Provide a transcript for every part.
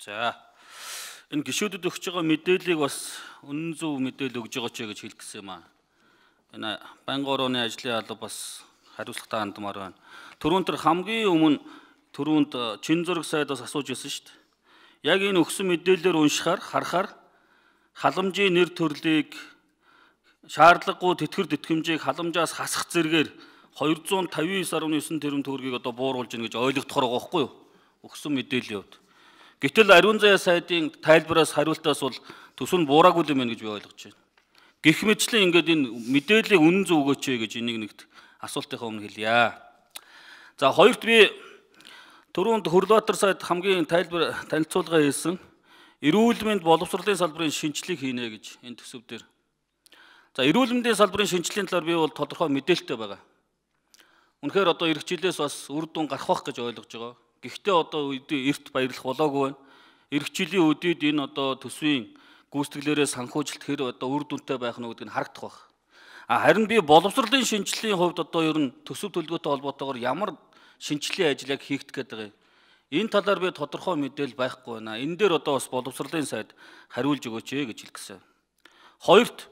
За энэ гишүүдэд өгч байгаа мэдээллийг бас үнэн зөв мэдээлэл өгж байгаа ч гэж хэлэх гэсэн юм аа. Энэ байнгын орооны ажлын алба бас хариуцлагатай хандмаар байна. Түрүүн тэр хамгийн өмнө түрүүнд чин зураг сайдаас асууж ирсэн шүү дээ. Яг энэ өгсөн мэдээллээр уншихаар харахаар халамжийн нэр төрлийг шаардлагагүй тэтгэр тэтгэмжийг халамжаас хасах зэргээр 259.9 тэрбум төгрөгийг одоо бууруулж ийн гэж ойлгохдохоор байгаа байхгүй юу? Өгсөн мэдээллийн хувьд. Гэтэл Ариун заяа сайдын тайлбараас хариултаас бол төсөв нь буураагүй юм байна гэж би ойлгож байна. Гэх мэтчлэн ингээд энэ мэдээллийг үнэн зөв өгөөч гэж энийг нэгт асуултынхаа өмнө хэлье. За хоёрт би түрүүнд Хөрлөбаатар сайд хамгийн танилцуулга хийсэн эрүүл мэнд боловсролын салбарын шинжилгээг хийнэ гэж энэ төсөв дээр. За эрүүл мэндийн салбарын шинжилгээний талаар би бол тодорхой мэдээлэлтэй байгаа. Үнэхээр одоо эх жилээс бас үр дүн гарах байх гэж ойлгож байгаа. Гэхдээ одоо эрт баярлах болоогүй байна. Эх жилийн үдид энэ одоо төсвийн гүйцэтгэлээрээ санхүүжилт хэр одоо үр дүнтэй байх нь гэдгийг харагдах байх. Харин би боловсролын шинжилгээний хувьд одоо ер нь төсөв төлөвлөгөөтэй холбоотойгоор ямар шинжилгээ ажлыг хийгдэх гэдэг юм. Энэ талаар би тодорхой мэдээлэл байхгүй байна. Энэ дээр одоо бас боловсролын сайд хариулж өгөөч гэж хэлэх гэсэн. Хоёрт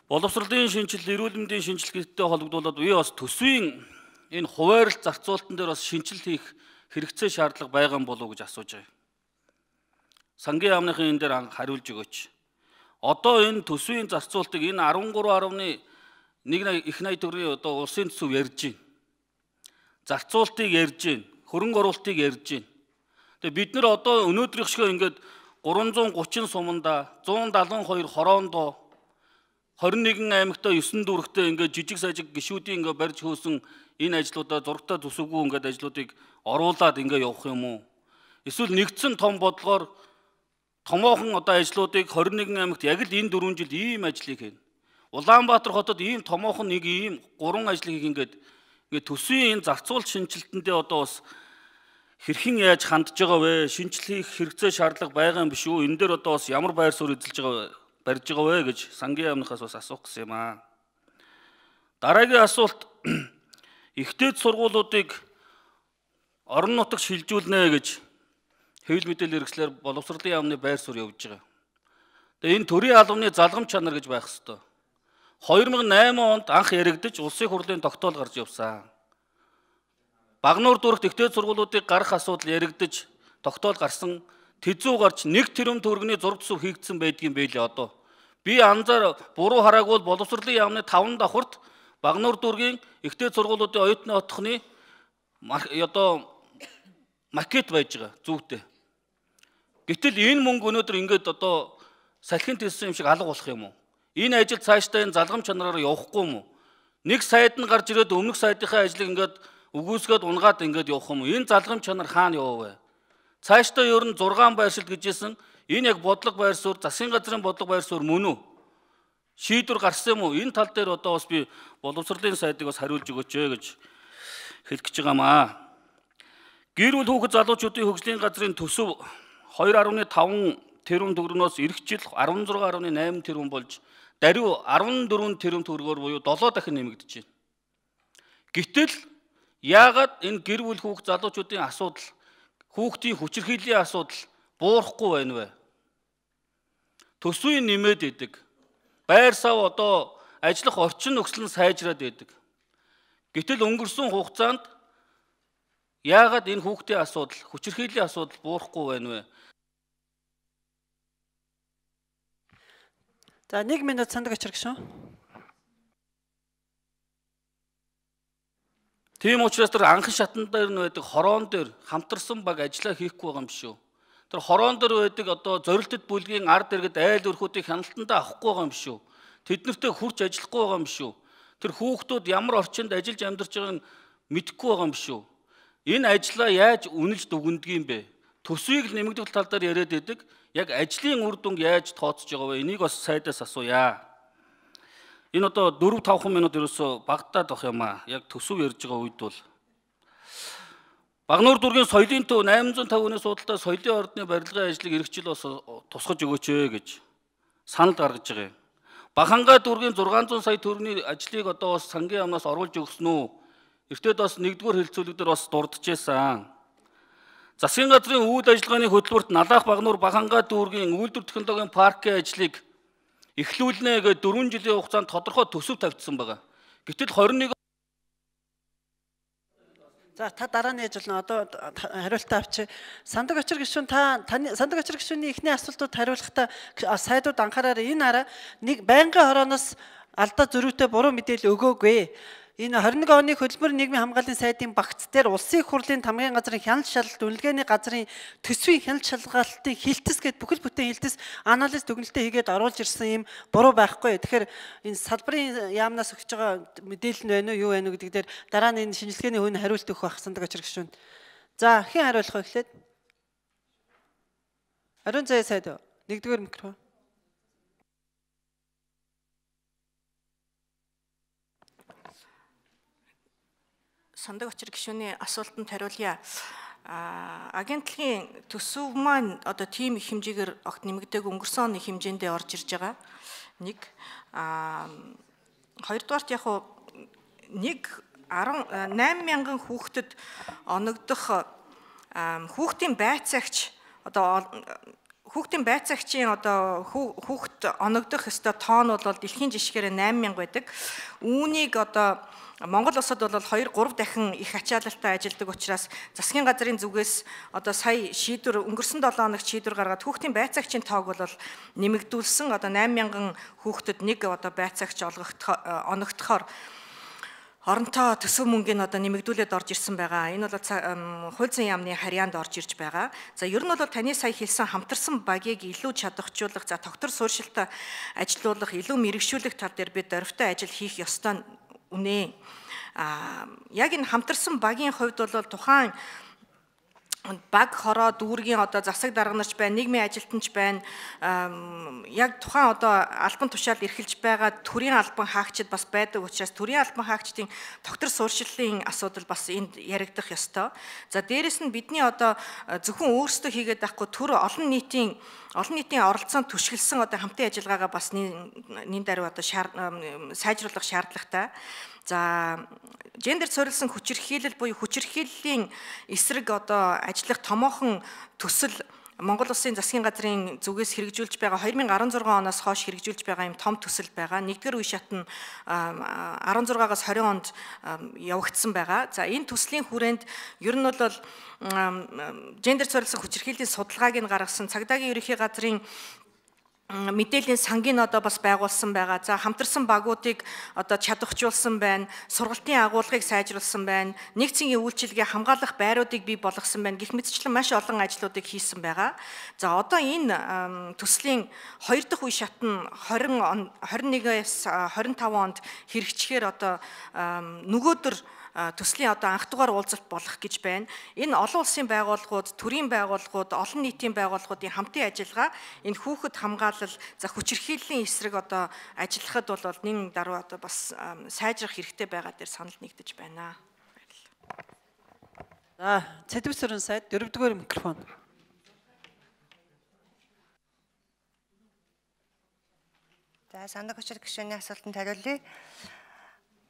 боловсролын шинжилэл, эрүүл мэндийн шинжилгээтэй холбогдуулаад би бас төсвийн энэ хуваарлт зарцуулалтан дээр бас шинжилэл хийх хэрэгцээ шаардлага байгаа юм болов уу гэж асууж байгаа. Сангийн яамныхын энэ дээр хариулж өгөөч. Одоо энэ төсвийн зарцуулалтыг энэ 13.1 их найд төгрөгийн одоо улсын төсөв ярьж байна. Зарцуулалтыг ярьж байна. Хөрөнгө оруулалтыг ярьж байна. Тэгээ бид нэр одоо өнөөдрийнх шиг ингээд 330 суманда 172 хороондоо 21 аймагтаа 9 дүүрэгтээ ингээд жижиг сажиг гишүүдийн ингээд барьж хөөсөн энэ ажлуудаа зургатаа төсөвгүй ингээд ажлуудыг оруулаад ингээд явах юм уу? Эсвэл нэгдсэн том бодлогоор томоохон одоо ажлуудыг 21 аймагт яг л энэ 4 жил ийм ажлыг хийнэ. Улаанбаатар хотод ийм томоохон нэг ийм 3 ажлыг ингээд төсвийн энэ зарцуулалт шинжилтэндээ одоо бас хэрхэн яаж хандж байгаа вэ? Шинжилгээ хийх хэрэгцээ шаардлага байгаа юм биш үү? Энэ дээр одоо бас ямар байр суурь эзэлж байгаа барьж байгаа вэ гэж сангийн яамнахаас бас асуух гэсэн юм аа. Дараагийн асуулт ихтэйд сургуулиудыг орон нутагт шилжүүлнэ гэж хэвлэл мэдээлэл хэрэгслэр боловсролын яамны байр суурь явж байгаа. Тэгээ энэ төрийн албаны залгамж чанар гэж байх ёстой. 2008 онд анх яригдж улсын хурлын тогтоол гарч явсан. Багнуур дүүрэгт ихтэйд сургуулиудыг гарах асуудал яригдж тогтоол гарсан. Тэзүү гарч 1 тэрбум төгрөгийн зураг төсөв хийгдсэн байдгийн байлээ одоо. Би анзаар буруу хараагүй боловсролын яамны 5 давхарт Багнуур дүүргийн ихтэйд сургуулиудын оюутны отхны одоо макет байж байгаа зүгтээ. Гэтэл энэ мөнгө өнөөдөр ингээд одоо салхинд хэлсэн юм шиг алга болох юм уу? Энэ ажил цаашдаа энэ залгамж чанараар явахгүй юм уу? Нэг сайд нь гарч ирээд өмнөх сайдынхаа ажлыг ингээд үгүйсгээд унгаад ингээд явах юм уу? Энэ залгамж чанар хаана явав вэ? Цаашдаа ер нь 6 байршилт гэжсэн энэ яг бодлого байр суурь, засгийн газрын бодлого байр суурь мөн үү? Шийдвэр гарсан юм уу? Энэ тал дээр одоо бас би боловсролын сайдыг бас хариулж өгөөч гэж хэлэх гэж байгаамаа. Гэр бүл хүүхэд залуучуудын хөгжлийн газрын төсөв 2.5 тэрбум төгрөгнөөс эх жил 16.8 тэрбум болж даруй 14 тэрбум төгрөгөөр буюу 7 дахин нэмэгдэж байна. Гэтэл яагаад энэ гэр бүл хүүхэд залуучуудын асуудал, хүүхдийн хүчирхийллийн асуудал буурахгүй байна вэ? Төсвийн нэмээд идэг. Байр сав одоо ажиллах орчин нөхцөл нь сайжраад байдаг. Гэтэл өнгөрсөн хугацаанд яагаад энэ хүүхдийн асуудал, хүчирхийллийн асуудал буурахгүй байна вэ? За 1 минут сандаг очир гişүн. Тийм учраас тэр анхан шатан дээр нь байдаг хороон дээр хамтарсан баг ажиллаа хийхгүй байгаа юм биш үү? Тэр хороон дээр байдаг одоо зорилтод бүлгийн ард иргэд айл өрхүүдийг хяналтандаа авахгүй байгаа юм биш үү? Тэднэртэй хурц ажиллахгүй байгаа юм биш үү? Тэр хүүхдүүд ямар орчинд ажиллаж амьдарч байгааг нь мэдэхгүй байгаа юм биш үү? Энэ ажлаа яаж үнэлж дүгнэдэг юм бэ? Төсвийг нэмэгдэх тал дээр яриад байдаг. Яг ажлын үр дүнг яаж тооцож байгаа вэ? Энийг бас сайдаас асууя. Энэ одоо 4-5 минут ерөөсө багтаад байх юм аа. Яг төсөв ярьж байгаа үед бол Багнуур дүүргийн соёлын төв 850 хүний судалтай соёлын ордны барилгын ажлыг эх жил бас тусгаж өгөөч гэж санал гаргаж байгаа юм. Бахангаа дүүргийн 600 сая төгрөгийн ажлыг одоо бас сангийн яамнаас оруулж өгсөн үү? Эртээд бас 1-р хэлцүүлэг дээр бас дурдж байсан. Засгийн газрын үйл ажиллагааны хөтөлбөрт Налаах Багнуур Бахангаа дүүргийн үйлдвэр технологийн паркын ажлыг эхлүүлнэ гэж 4 жилийн хугацаанд тодорхой төсөв тавьчихсан байгаа. Гэтэл 21 За та дараа нь яаж болно? Одоо хариултаа авчи. Сандаг очир гишүүн таны сандаг очир гишүүний эхний асуултууд хариулахдаа сайдууд анхаараарай. Энэ араа нэг байнгын хорооноос алдаа зөрүүтэй буруу мэдээлэл өгөөгүй. Энэ 21 оны хөдөлмөр нийгмийн хамгааллын сайдын багц дээр улсын их хурлын тамгын газрын хяналт шалгалт үнэлгээний газрын төсвийн хяналт шалгалтын хилтэс гээд бүхэл бүтэн хилтэс анализ дүгнэлтээ хийгээд оруулж ирсэн юм буруу байхгүй. Тэгэхээр энэ салбарын яамнаас өгч байгаа мэдээлэл нь байна уу юу байна уу гэдэг дээр дараа нь энэ шинжилгээний хувийн хариулт өгөх байх сандаг очир гишүүн. За хэн хариулах вэ гэхлээр? Ариун заяа сайд нэгдүгээр микрофон. Сандаг очир гишүүний асуултанд хариулъя. Агентлагийн төсөв маань одоо тийм их хэмжээгээр огт нэмэгдээг өнгөрсөн оны хэмжээндээ орж ирж байгаа. Нэг хоёрдугаарт яг хуу 8,000 хүүхдэд оногдох хүүхдийн байцаагч одоо хүүхдийн байцаагчийн одоо хүүхд оногдох ёстой тоон бол дэлхийн жишгээр 8,000 байдаг. Үүнийг одоо Монгол улсад бол 2-3 дахин их ачаалалтай ажилладаг учраас засгийн газрын зүгээс одоо сая шийдвэр өнгөрсөн 7 хоногт шийдвэр гаргаад хүүхдийн байцаагчийн тоог бол нэмэгдүүлсэн. Одоо 8,000 хүүхдэд нэг одоо байцаагч оногдохоор оронтой төсөв мөнгөний одоо нэмэгдүүлээд орж ирсэн байгаа. Энэ бол хууль зүйн яамны харьяанд орж ирж байгаа. За ер нь бол таны сая хэлсэн хамтарсан багийг илүү чадваржуулах, за тогтвор суурьшилтаа ажилуулах, илүү мэрэгшүүлэх тал дээр бид дөрвтэй ажил хийх ёстой үнэ. Яг энэ хамтарсан багийн хувьд бол тухайн баг хороо дүүргийн одоо засаг дарганарч байна, нийгмийн ажилтнч байна. Яг тухайн одоо албан тушаалд эрхэлж байгаа төрийн албан хаагчид бас байдаг учраас төрийн албан хаагчдын тогтвор суурьшиллын асуудал бас энд яригдах ёстой. За дээрэс нь бидний одоо зөвхөн өөрсдөө хийгээд байхгүй төр олон нийтийн оролцоонд түшгэлсэн одоо хамтын ажиллагаагаа бас нин даруй одоо сайжруулах шаардлагатай. За гендер суурилсан хүчирхийлэл буюу хүчирхийллийн эсрэг одоо ажиллах томоохон төсөл Монгол Улсын засгийн газрын зүгээс хэрэгжүүлж байгаа 2016 оноос хойш хэрэгжүүлж байгаа юм том төсөл байгаа. Нэгдүгээр үе шат нь 16-аас 20 онд явагдсан байгаа. За энэ төслийн хүрээнд ер нь бол гендер суурилсан хүчирхийллийн судалгааг нь гаргасан цагдаагийн ерөнхий газрын мэдээллийн сангийн одоо бас байгуулсан байгаа. За хамтарсан багуудыг одоо чадваржуулсан байна. Сургалтын агуулгыг сайжруулсан байна. Нэгцгийн үйлчилгээ хамгаалах байруудыг бий болгосон байна. Гэх мэтчлэн маш олон ажлуудыг хийсэн байгаа. За одоо энэ төслийн 2 дахь үе шат нь 21-ээс 25 онд хэрэгжихээр одоо нөгөөдөр төслийн одоо анх дугаар уулзалт болох гэж байна. Энэ олон улсын байгууллагууд, төрийн байгууллагууд, олон нийтийн байгууллагуудын хамтын ажиллагаа энэ хүүхэд хамгаалал, за хүчирхийллийн эсрэг одоо ажиллахад бол нэн даруй одоо бас сайжрах хэрэгтэй байгаа дээр санал нэгдэж байна. За, Цэдвэсрэн сайд 4-р микрофон. За, сандаг очир гишүүний асуултанд хариулъя.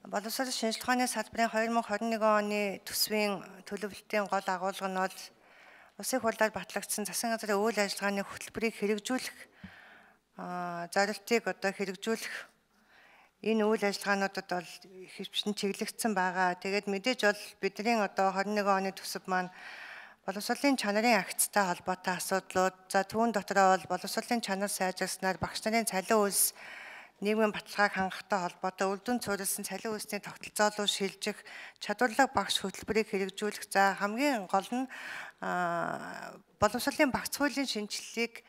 Боловсрол шинжилгээ ухааны салбарын 2021 оны төсвийн төлөвлөлтийн гол агуулга нь бол улсын хурлаар батлагдсан засгийн газрын үйл ажиллагааны хөтөлбөрийг хэрэгжүүлэх зорилтыг одоо хэрэгжүүлэх энэ үйл ажиллагаануудад бол хэвчин чиглэгдсэн байгаа. Тэгээд мэдээж бол бидний одоо 21 оны төсөв маань боловсролын чанарын агцтай холбоотой асуудлууд, за түүн дотроо бол боловсролын чанар сайжирснаар багш нарын цалин үйлс нийгмийн баталгааг хангахтай холбоотой үлдэн цуурилсан цалин үйлсний тогтолцоо руу шилжих, чадварлаг багш хөтөлбөрийг хэрэгжүүлэх, за хамгийн гол нь боловсролын багц хуулийн шинжилгээг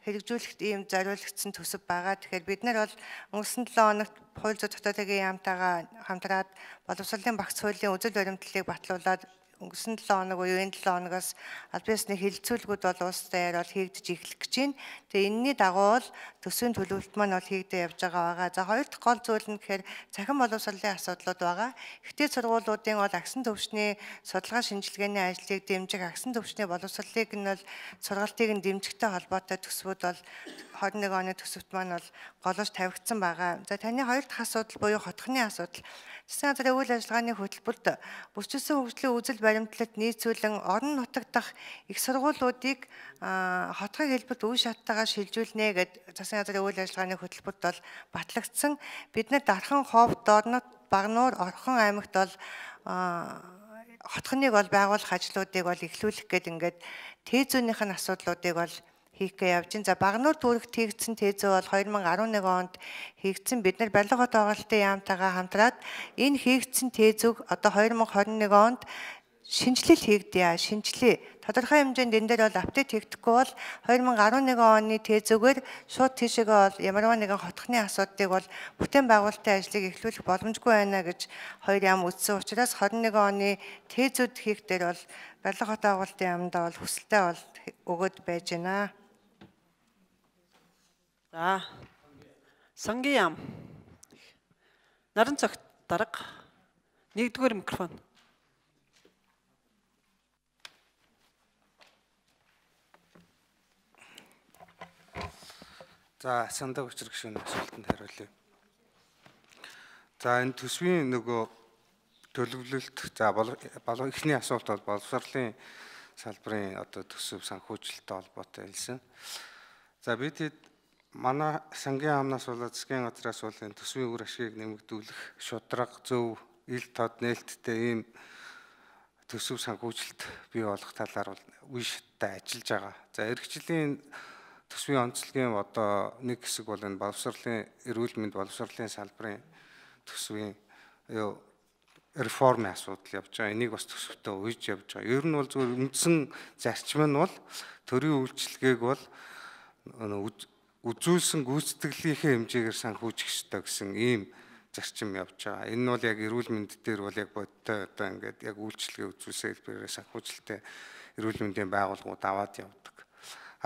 хэрэгжүүлэхэд ийм зориулагдсан төсөв байгаа. Тэгэхээр бид нар бол өнгөрсөн 7 хоногт хууль зүйн дотоодын яамтайгаа хамтраад боловсролын багц хуулийн үзэл баримтлалыг батлуулаад өнгөрсөн 7 хоног буюу энэ 7 хоногоос аль биесны хилцүүлгүүд бол улс даяар бол хийгдэж эхлэх гэж байна. Тэгээ энэний дагуу бол төсвийн төлөвлөлт маань бол хийгдэж явж байгаа. За хоёр дахь гол зүйл нь гэхээр цахим боловсролын асуудлууд байгаа. Ихтэй сургуулиудын бол агсан төвчний судалгаа шинжилгээний ажлыг дэмжих, агсан төвчний боловсролыг нь бол сургалтыг нь дэмжихтэй холбоотой төсвүүд бол 21 оны төсөвт маань бол голож тавигдсан байгаа. За таны хоёр дахь асуудал буюу хотхны асуудал. Засгийн газрын үйл ажиллагааны хөтөлбөрт бүрчилсэн хөгжлийн үзэл баримтлалд нийцүүлэн орон нутаг дахь их сургуулиудыг хотгын хэлбэрт үе шаттайгаар шилжүүлнэ гэд засгийн газрын үйл ажиллагааны хөтөлбөрт бол батлагдсан. Бид нар Дархан, Ховд, Дорнот, Багнуур, Орхон аймагт бол хотхоныг бол байгуулах ажлуудыг бол эхлүүлэх гээд ингээд тээзүүнийх нь асуудлуудыг бол хийх гэж явж байна. За Багнуур түүхт хийгдсэн тээзөө бол 2011 онд хийгдсэн. Бид нар барилга хот байгуулалтын яамтайгаа хамтраад энэ хийгдсэн тээзүүг одоо 2021 онд шинжилэл хийгдэе. Шинжилээ. Тодорхой хэмжээнд энэ дээр бол апдейт хийгдэхгүй бол 2011 оны тээзүүгээр шууд тийшээгээ бол ямарваа нэгэн хотхны асуудлыг бол бүтээн байгуулалтын ажлыг эхлүүлэх боломжгүй байна гэж хоёр яам үзсэн учраас 21 оны тээзүүд хийх дээр бол барилга хот байгуулалтын яамдаа бол хүсэлтэй бол өгөөд байж байна. За. Сангийн яам. Наран цагт дарга. 1-р микрофон. За, сандаг учир гишүүний асуултанд хариулъя. За, энэ төсвийн нөгөө төлөвлөлт за эхний асуулт бол боловсролын салбарын одоо төсөв санхүүжилттэй холбоотой хэлсэн. За, бид манай сангийн яамнаас болоод засгийн газраас бол энэ төсвийн үр ашгийг нэмэгдүүлэх шударга, зөв, ил тод нээлттэй ийм төсөв санхүүжилт бий болох талаар бол үе шаттай ажиллаж байгаа. За, эх жилийн төсвийн онцлогийн одоо нэг хэсэг бол энэ боловсролын эрүүл мэнд боловсролын салбарын төсвийн реформын асуудал явж байгаа. Энийг бас төсөвтэй уйж явж байгаа. Ер нь бол зөвхөн үндсэн зарчим нь бол төрийн үйлчилгээг бол үзүүлсэн гүйцэтгэлийнхээ хэмжээгээр санхүүжих ёстой гэсэн ийм зарчим явж байгаа. Энэ нь бол яг эрүүл мэнд дээр бол яг бодтой одоо ингээд яг үйлчилгээ үзүүлсэн хэлбэрээр санхүүжилттэй эрүүл мэндийн байгууллагууд аваад явдаг.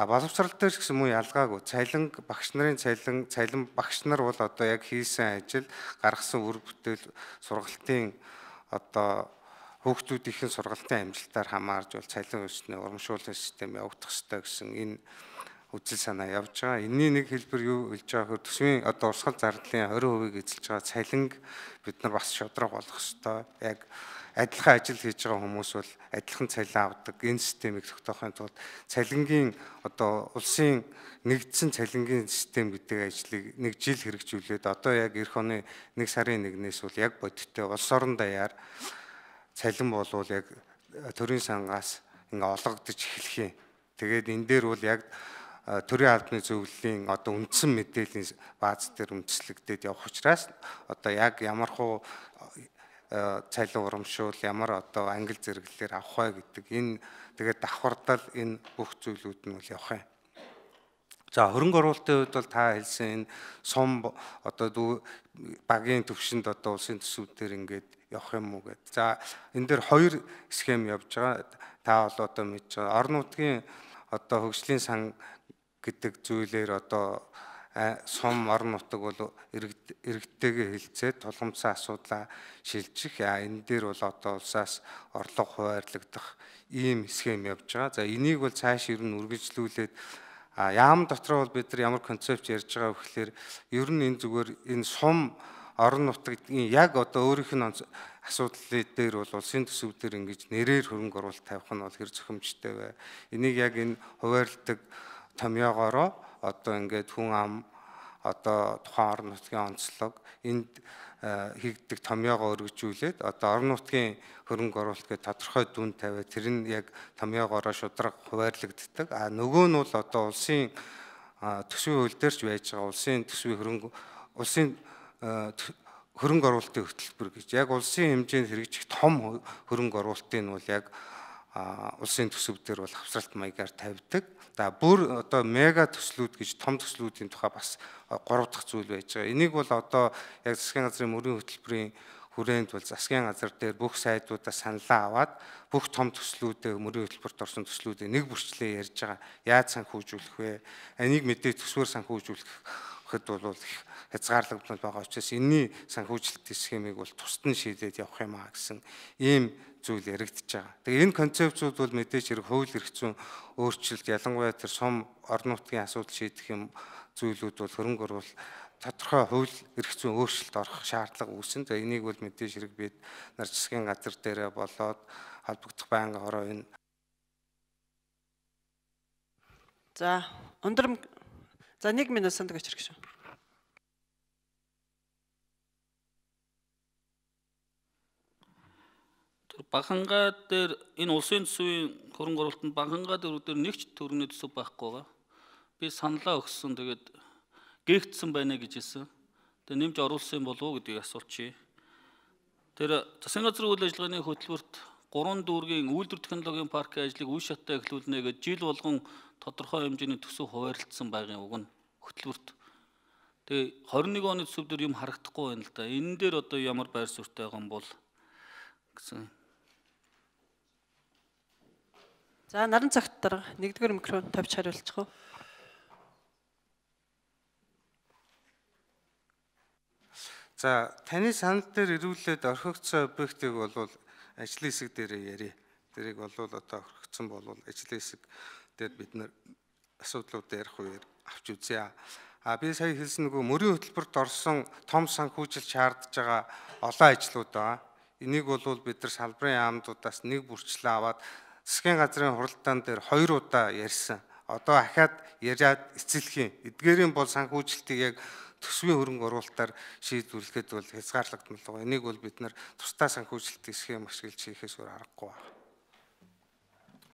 Боловсрол дээр ч гэсэн муу ялгаагүй. Цалинг багш нарын цалин багш нар бол одоо яг хийсэн ажил, гаргасан үр бүтээл, сургалтын одоо хүүхдүүдийн сургалтын амжилтаар хамаарж бол цалин өснө урамшууллын систем явагдах ёстой гэсэн энэ үзэл санаа явж байгаа. Энэний нэг хэлбэр юу хэлж байгаа хөө төсвийн одоо урсгал зардлын 20% эзэлж байгаа цалинг бид нар бас шударга болгох ёстой. Яг адилхан ажил хийж байгаа хүмүүс бол адилхан цалин авдаг. Энэ системийг тогтоохын тулд цалингийн одоо улсын нэгдсэн цалингийн систем гэдэг ажлыг нэг жил хэрэгжүүлээд одоо яг эх оны 1 сарын 1-ээс бол яг бодиттой улс орон даяар цалин болвол яг төрийн сангаас ингээ олгогдож эхлэх юм. Тэгээд энэ дээр бол яг төрийн албаны зөвлөлийн одоо үндсэн мэдээллийн бааз дээр үндэслэгдээд явах учраас одоо яг ямархуу цалин урамшуул ямар одоо ангил зэрэглэлээр авах вэ гэдэг энэ тэгээд давхардал энэ бүх зүйлүүд нь бол явах юм. За хөрөнгө оруулалтын хувьд бол та хэлсэн энэ сум одоо багийн төвшөнд одоо улсын төсвүүдээр ингээд явах юм уу гэдэг. За энэ дээр хоёр схем явж байгаа. Та бол одоо мэдж байгаа. Орон нутгийн одоо хөгжлийн сан гэдэг зүйлээр одоо сум орон нутаг бол иргэдтэйгээ хэлцээд тулгымцсан асуудлаа шилжих. Энэ дээр бол одоо улсаас орлого хуваарлагдах ийм схем явж байгаа. За энийг бол цааш ер нь үргэлжлүүлээд яам дотор бол бид нар ямар концепт ярьж байгаа вэ гэхээр ер нь энэ зүгээр энэ сум орон нутгийн яг одоо өөрийнх нь асуудлын дээр бол улсын төсөвдөр ингэж нэрээр хөрөнгө оруулалт тавих нь бол хэр зохимжтой вэ? Энийг яг энэ хуваарлдаг томьёогоороо одоо ингээд хүн ам одоо тухайн орон нутгийн онцлог энд хийгддэг томьёогоо өргөжүүлээд одоо орон нутгийн хөрөнгө оруулалт гэж тодорхой дүн тавиад тэр нь яг томьёогоороо шударга хуваарлагддаг. Нөгөө нь бол одоо улсын төсвийн хууль дээр ч байж байгаа улсын төсвийн хөрөнгө оруулалтын хөтөлбөр гэж яг улсын хэмжээнд хэрэгжих том хөрөнгө оруулалтын нь бол яг улсын төсөв дээр бол хавсралт маягаар тавьдаг. За бүр одоо мега төслүүд гэж том төслүүдийн тухай бас 3 дахь зүйл байж байгаа. Энийг бол одоо яг засгийн газрын мөрийн хөтөлбөрийн хүрээнд бол засгийн газар дээр бүх сайдуудаа саналаа аваад бүх том төслүүдээ мөрийн хөтөлбөрт орсон төслүүдээ нэг бүрчлээ ярьж байгаа. Яаж санхүүжүүлэх вэ? Энийг мэдээ төсвөр санхүүжүүлэхэд бол хязгаарлагдмал байгаа учраас энэний санхүүжилтийн схемийг бол тусад нь шийдээд явах юм аа гэсэн ийм зүйл яригдж байгаа. Тэгээ энэ концепцууд бол мэдээж хэрэг хууль эрх зүйн өөрчлөлт ялангуяа тэр сум орон нутгийн асуудал шийдэх юм зүйлүүд бол хөрөнгө оруулалт тодорхой хууль эрх зүйн өөрчлөлт орох шаардлага үүснэ. За энийг бол мэдээж хэрэг бид нар засгийн газар дээрээ болоод холбогдох байнгын хороо энэ. За 1 минут Сандаг Очир гишүүн. Банхангаа дээр энэ улсын төсвийн хөрөнгө оруулалтанд банхангаа дээр нэг ч төгрөгийн төсөв байхгүй байгаа. Би саналаа өгсөн тэгээд гээгдсэн байна гэж хэлсэн. Тэгээд нэмж оруулсан болов уу гэдгийг асуулчих. Тэр засгийн газрын үйл ажиллагааны хөтөлбөрт 3 дүүргийн үйлдвэр технологийн паркийн ажлыг үе шаттай эхлүүлнэ гэж жил болгон тодорхой хэмжээний төсөв хуваарлагдсан байгын уг нь хөтөлбөрт. Тэгээ 21 оны төсөв дээр юм харагдахгүй байна л да. Энэ дээр одоо ямар байр суурьтай байгаа юм бол гэсэн. За наран цагт дарга 1-р микрофон тавьж хариулчих уу. За таны санал дээр ирүүлээд орхигдсон объектыг бол ажлын хэсэг дээр ярив. Тэрийг бол одоо орхигдсон бол ажлын хэсэг дээр бид нэр асуудлууд ярих үеэр авч үзье. Би сая хэлсэн нөгөө мөрийн хөтөлбөрт орсон том санхүүжилт шаардж байгаа олон ажлууд байгаа. Энийг бол бид нар салбарын яамдуудаас нэг бүрчлээ аваад засгийн газрын хуралдаан дээр 2 удаа ярьсан. Одоо ахаад яриад эцэлэх юм. Эдгээрийн бол санхүүжилтийг яг төсвийн хөрөнгө оруулалтаар шийдвэрлэхэд бол хязгаарлагдмал байгаа. Энийг бол бид нар тусдаа санхүүжилтийн схем ашиглаж хийхээс өөр аргагүй байна.